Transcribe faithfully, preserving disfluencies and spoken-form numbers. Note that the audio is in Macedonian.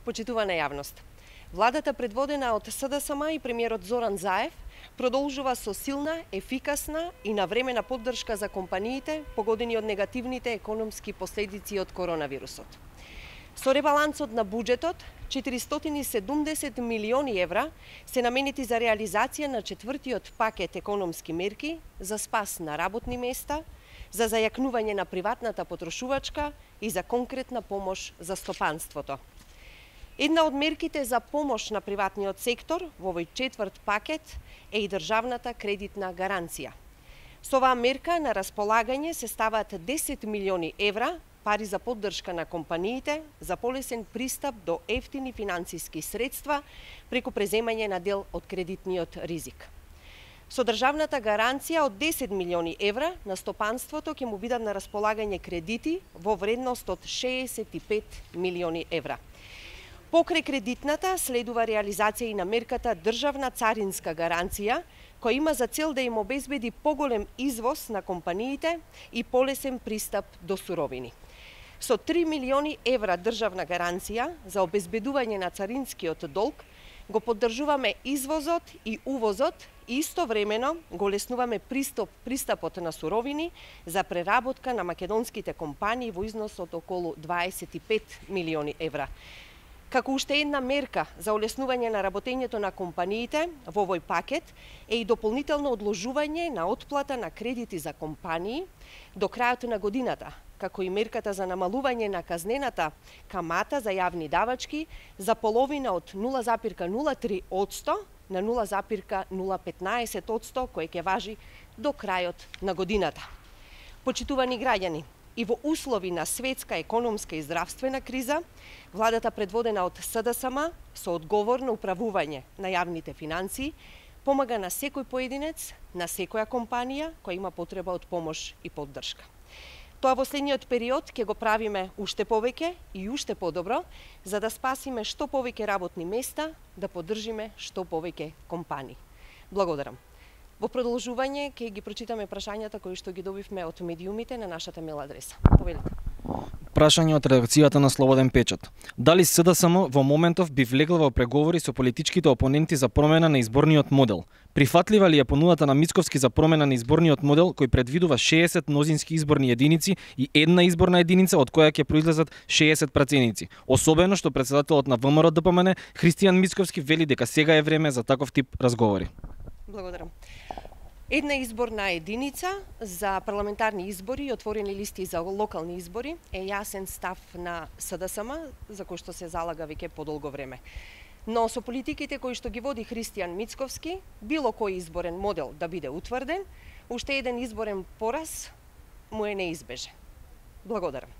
Почитувана јавност, владата предводена од СДСМ и премиерот Зоран Заев продолжува со силна, ефикасна и навремена поддршка за компаниите погодени од негативните економски последици од коронавирусот. Со ребалансот на буџетот, четиристотини и седумдесет милиони евра се наменети за реализација на четвртиот пакет економски мерки за спас на работни места, за зајакнување на приватната потрошувачка и за конкретна помош за стопанството. Една од мерките за помош на приватниот сектор во овој четврт пакет е и државната кредитна гаранција. Со оваа мерка на располагање се ставаат десет милиони евра пари за поддршка на компаниите за полесен пристап до ефтини финансиски средства преку преземање на дел од кредитниот ризик. Со државната гаранција од десет милиони евра на стопанството ќе му бидат на располагање кредити во вредност од шеесет и пет милиони евра. Покрај кредитната следува реализација и на мерката државна царинска гаранција, која има за цел да им обезбеди поголем извоз на компаниите и полесен пристап до суровини. Со три милиони евра државна гаранција за обезбедување на царинскиот долг го поддржуваме извозот и увозот и истовремено го леснуваме пристап, пристапот на суровини за преработка на македонските компании во износ од околу дваесет и пет милиони евра. Како уште една мерка за олеснување на работењето на компаниите во овој пакет е и дополнително одложување на отплата на кредити за компании до крајот на годината, како и мерката за намалување на казнената камата за јавни давачки за половина од нула запирка нула три одсто на нула запирка нула петнаесет одсто, кој ќе важи до крајот на годината. Почитувани граѓани, и во услови на светска економска и здравствена криза, владата предводена од СДСМ со одговорно управување на јавните финансии помага на секој поединец, на секоја компанија која има потреба од помош и поддршка. Тоа во следниот период ќе го правиме уште повеќе и уште подобро, за да спасиме што повеќе работни места, да поддржиме што повеќе компании. Благодарам. Во продолжување ќе ги прочитаме прашањата кои што ги добивме од медиумите на нашата мейл адреса. Повелете. Прашање од редакцијата на Слободен печат. Дали СДСМ во моментов би влегла во преговори со политичките опоненти за промена на изборниот модел? Прифатлива ли е понудата на Мицковски за промена на изборниот модел кој предвидува шеесет мнозински изборни единици и една изборна единица од која ќе произлезат шеесет праценици? Особено што претседателот на ВМРО Д П М Н Христијан Мицковски вели дека сега е време за таков тип разговори. Благодарам. Една изборна единица за парламентарни избори и отворени листи за локални избори е јасен став на СДСМ, за кој што се залага веќе подолго време. Но со политиките кои што ги води Христијан Мицковски, било кој изборен модел да биде утврден, уште еден изборен пораз му е неизбежен. Благодарам.